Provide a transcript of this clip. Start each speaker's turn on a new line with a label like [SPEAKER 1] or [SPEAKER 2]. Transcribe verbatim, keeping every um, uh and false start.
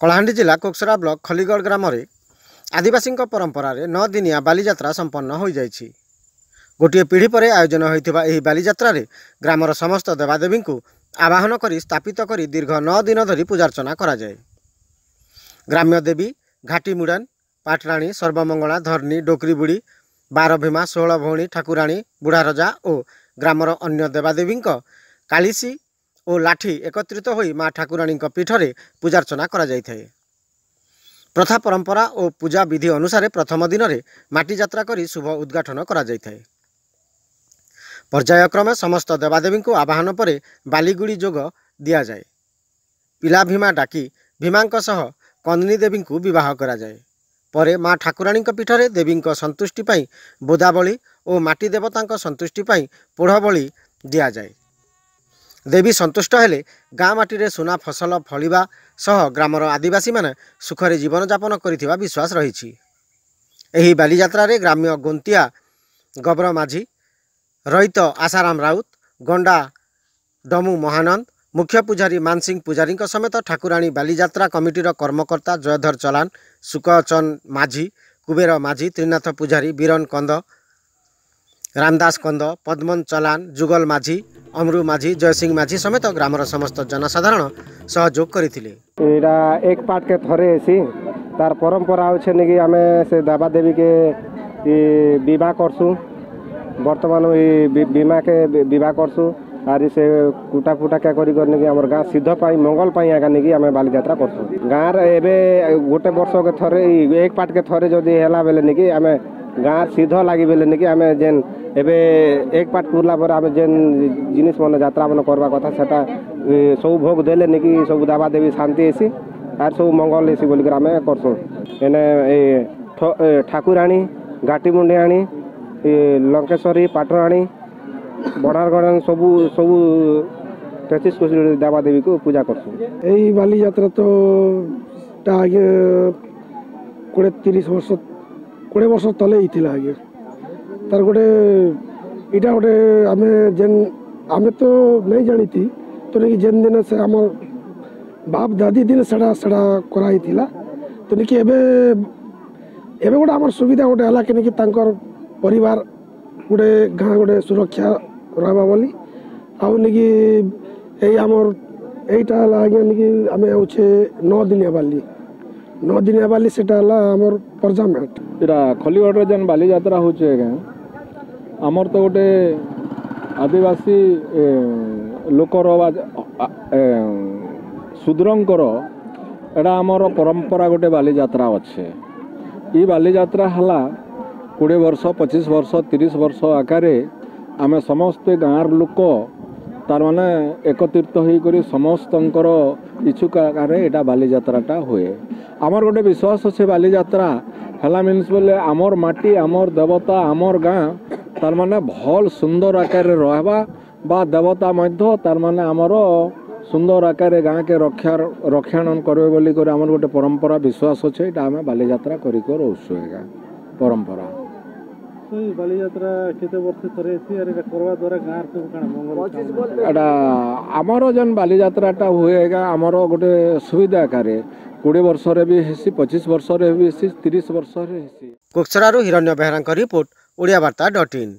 [SPEAKER 1] କଳାହାଣ୍ଡି ଜିଲ୍ଲା କୋକସରା ବ୍ଲକ ଖଲିଗଡ଼ ଗ୍ରାମରେ ଆଦିବାସୀଙ୍କ ପରମ୍ପରାରେ ନଅ ଦିନିଆ ବାଲିଯାତ୍ରା ସମ୍ପନ୍ନ ହୋଇଯାଇଛି। ଗୋଟିଏ ପିଢ଼ି ପରେ ଆୟୋଜନ ହୋଇଥିବା ଏହି ବାଲିଯାତ୍ରାରେ ଗ୍ରାମର ସମସ୍ତ ଦେବାଦେବୀଙ୍କୁ ଆବାହନ କରି ସ୍ଥାପିତ କରି ଦୀର୍ଘ ନଅ ଦିନ ଧରି ପୂଜାର୍ଚ୍ଚନା କରାଯାଏ। ଗ୍ରାମ୍ୟ ଦେବୀ ଘାଟି ମୁଡ଼ାନ, ପାଟରାଣୀ, ସର୍ବମଙ୍ଗଳା, ଧର୍ନୀ, ଡୋକରୀବୁଢ଼ୀ, ବାରଭୀମା, ଷୋହଳ ଭଉଣୀ, ଠାକୁରାଣୀ, ବୁଢ଼ାରଜା ଓ ଗ୍ରାମର ଅନ୍ୟ ଦେବାଦେବୀଙ୍କ କାଳିସୀ ଓ ଲାଠି ଏକତ୍ରିତ ହୋଇ ମା ଠାକୁରାଣୀଙ୍କ ପୀଠରେ ପୂଜାର୍ଚ୍ଚନା କରାଯାଇଥାଏ। ପ୍ରଥା ପରମ୍ପରା ଓ ପୂଜା ବିଧି ଅନୁସାରେ ପ୍ରଥମ ଦିନରେ ମାଟି ଯାତ୍ରା କରି ଶୁଭ ଉଦ୍ଘାଟନ କରାଯାଇଥାଏ। ପର୍ଯ୍ୟାୟକ୍ରମେ ସମସ୍ତ ଦେବାଦେବୀଙ୍କୁ ଆବାହନ ପରେ ବାଲିଗୁଡ଼ି ଯୋଗ ଦିଆଯାଏ। ପିଲା ଭୀମା ଡାକି ଭୀମାଙ୍କ ସହ କନ୍ନି ଦେବୀଙ୍କୁ ବିବାହ କରାଯାଏ। ପରେ ମା ଠାକୁରାଣୀଙ୍କ ପୀଠରେ ଦେବୀଙ୍କ ସନ୍ତୁଷ୍ଟି ପାଇଁ ବୋଦାବଳି ଓ ମାଟି ଦେବତାଙ୍କ ସନ୍ତୁଷ୍ଟି ପାଇଁ ପୋଢ଼ ବଳି ଦିଆଯାଏ। ଦେବୀ ସନ୍ତୁଷ୍ଟ ହେଲେ ଗାଁ ମାଟିରେ ସୁନା ଫସଲ ଫଳିବା ସହ ଗ୍ରାମର ଆଦିବାସୀମାନେ ସୁଖରେ ଜୀବନଯାପନ କରିଥିବା ବିଶ୍ୱାସ ରହିଛି। ଏହି ବାଲିଯାତ୍ରାରେ ଗ୍ରାମ୍ୟ ଗୋନ୍ତିଆ ଗବର ମାଝୀ, ରଇତ ଆଶାରାମ ରାଉତ, ଗଣ୍ଡା ଡମୁ ମହାନନ୍ଦ, ମୁଖ୍ୟ ପୂଜାରୀ ମାନସିଂ ପୂଜାରୀଙ୍କ ସମେତ ଠାକୁରାଣୀ ବାଲିଯାତ୍ରା କମିଟିର କର୍ମକର୍ତ୍ତା ଜୟଧର ଚଲାନ, ସୁକଚନ ମାଝୀ, କୁବେର ମାଝୀ, ତ୍ରିନାଥ ପୂଜାରୀ, ବୀରନ କନ୍ଦ, ରାମଦାସ କନ୍ଦ, ପଦ୍ମନ ଚଲାନ, ଯୁଗଲ ମାଝୀ, ଅମରୁ ମାଝୀ, ଜୟସିଂ ମାଝୀ ସମେତ ଗ୍ରାମର ସମସ୍ତ ଜନସାଧାରଣ ସହଯୋଗ କରିଥିଲେ।
[SPEAKER 2] ଏଇଟା ଏକ ପାଟକେ ଥରେ ହେସି। ତାର ପରମ୍ପରା ହଉଛେ ନିକି ଆମେ ସେ ଦେବାଦେବୀକେ ବିବାହ କରସୁଁ। ବର୍ତ୍ତମାନ ଏଇ ଭୀମାକେ ବିବାହ କରସୁଁ ଆରି ସେ କୁଟା ଫୁଟା କେ କରି କରି ନିକି ଆମର ଗାଁ ସିଦ୍ଧ ପାଇଁ, ମଙ୍ଗଳ ପାଇଁ ଏକା ନିକି ଆମେ ବାଲିଯାତ୍ରା କରସୁଁ। ଗାଁରେ ଏବେ ଗୋଟେ ବର୍ଷକେ ଥରେ, ଏକ ପାଟକେ ଥରେ ଯଦି ହେଲା ବେଲେ ନିକି ଆମେ ଗାଁ ସିଦ୍ଧ ଲାଗି ବେଲେ ନିକି ଆମେ ଯେନ୍ ଏବେ ଏକ ପାଟ ପୁରଲା ପରେ ଆମେ ଯେନ୍ ଜିନିଷ ମାନେ ଯାତ୍ରା ମାନେ କରବା କଥା, ସେଟା ସବୁ ଭୋଗ ଦେଲେ ନିକି ସବୁ ଦେବାଦେବୀ ଶାନ୍ତି ହେସି ଆର୍ ସବୁ ମଙ୍ଗଳ ହେସି ବୋଲିକରି ଆମେ କରସୁଁ। ଏନେ ଏ ଠାକୁରାଣୀ, ଘାଟି ମୁଣ୍ଡିଆଣୀ, ଲଙ୍କେଶ୍ୱରୀ, ପାଟରାଣୀ, ବଢ଼ାରଗଡ଼, ସବୁ ସବୁ ତେତିଶ କୋଟି ଦେବାଦେବୀକୁ ପୂଜା କରସୁଁ।
[SPEAKER 3] ଏଇ ବାଲିଯାତ୍ରା ତ ଟା ଆଜ୍ଞା କୋଡ଼ିଏ ତିରିଶ ବର୍ଷ, କୋଡ଼ିଏ ବର୍ଷ ତଲେ ହେଇଥିଲା ଆଜ୍ଞା। ତାର ଗୋଟେ ଏଇଟା ଗୋଟେ ଆମେ ଯେନ୍ ଆମେ ତ ନାଇଁ ଜାଣିତି ତ ନାକି ଯେନ୍ ଦିନ ସେ ଆମର ବାପ ଦାଦି ଦିନ ସେଟା ସେଟା କରାହେଇଥିଲା। ତ ନାକି ଏବେ ଏବେ ଗୋଟେ ଆମର ସୁବିଧା ଗୋଟେ ହେଲା କି ନାକି ତାଙ୍କର ପରିବାର ଗୋଟେ ଗାଁ ଗୋଟେ ସୁରକ୍ଷା ରହିବା ବୋଲି। ଆଉ ନାକି ଏଇ ଆମର ଏଇଟା ହେଲା ଆଜ୍ଞା ନାକି ଆମେ ହଉଛେ ନଅ ଦିନିଆ ବାଲି, ନଅ ଦିନିଆ ବାଲି, ସେଟା ହେଲା ଆମର ପରଜାମେଟ।
[SPEAKER 4] ଏଇଟା ଖଲିଗଡ଼ରେ ଯେନ୍ ବାଲିଯାତ୍ରା ହଉଛେ ଆଜ୍ଞା, ଆମର ତ ଗୋଟେ ଆଦିବାସୀ ଲୋକର ବା ଶୂଦ୍ରଙ୍କର ଏଇଟା ଆମର ପରମ୍ପରା ଗୋଟେ ବାଲିଯାତ୍ରା ଅଛେ। ଇ ବାଲିଯାତ୍ରା ହେଲା କୋଡ଼ିଏ ବର୍ଷ, ପଚିଶ ବର୍ଷ, ତିରିଶ ବର୍ଷ ଆକାରରେ ଆମେ ସମସ୍ତେ ଗାଁର ଲୋକ ତାର ମାନେ ଏକତ୍ରିତ ହେଇକରି ସମସ୍ତଙ୍କର ଇଚ୍ଛୁକ ଆକାରରେ ଏଇଟା ବାଲିଯାତ୍ରାଟା ହୁଏ। ଆମର ଗୋଟେ ବିଶ୍ୱାସ ଅଛି, ବାଲିଯାତ୍ରା ହେଲା ମିନ୍ସ ବୋଲେ ଆମର ମାଟି, ଆମର ଦେବତା, ଆମର ଗାଁ ତାର ମାନେ ଭଲ ସୁନ୍ଦର ଆକାରରେ ରହିବା ବା ଦେବତା ମଧ୍ୟ ତାର ମାନେ ଆମର ସୁନ୍ଦର ଆକାରରେ ଗାଁକେ ରକ୍ଷା ରକ୍ଷଣ କରିବେ ବୋଲିକରି ଆମର ଗୋଟେ ପରମ୍ପରା ବିଶ୍ୱାସ ଅଛି। ଏଇଟା ଆମେ ବାଲିଯାତ୍ରା କରିକି ରହୁଛୁ ଆଜ୍ଞା, ପରମ୍ପରା।
[SPEAKER 5] ବାଲିଯାତ୍ରା କେତେ ବର୍ଷ ଥରେ ହେସି ଆର୍ ଏଇଟା କରିବା ଦ୍ୱାରା ଗାଁର ସବୁ କାଣା ମଙ୍ଗଳ?
[SPEAKER 4] ଏଇଟା ଆମର ଯେନ୍ ବାଲିଯାତ୍ରାଟା ହୁଏ ଆଜ୍ଞା, ଆମର ଗୋଟେ ସୁବିଧା ଆକାରରେ କୋଡ଼ିଏ ବର୍ଷରେ ବି ହେସି, ପଚିଶ ବର୍ଷରେ ବି ହେସି, ତିରିଶ ବର୍ଷରେ ହେସି।
[SPEAKER 1] କୋକସରାରୁ ହିରଣ୍ୟ ବେହେରାଙ୍କ ରିପୋର୍ଟ, ଓଡ଼ିଆ ବାର୍ତ୍ତା ଡଟ୍ ଇନ୍।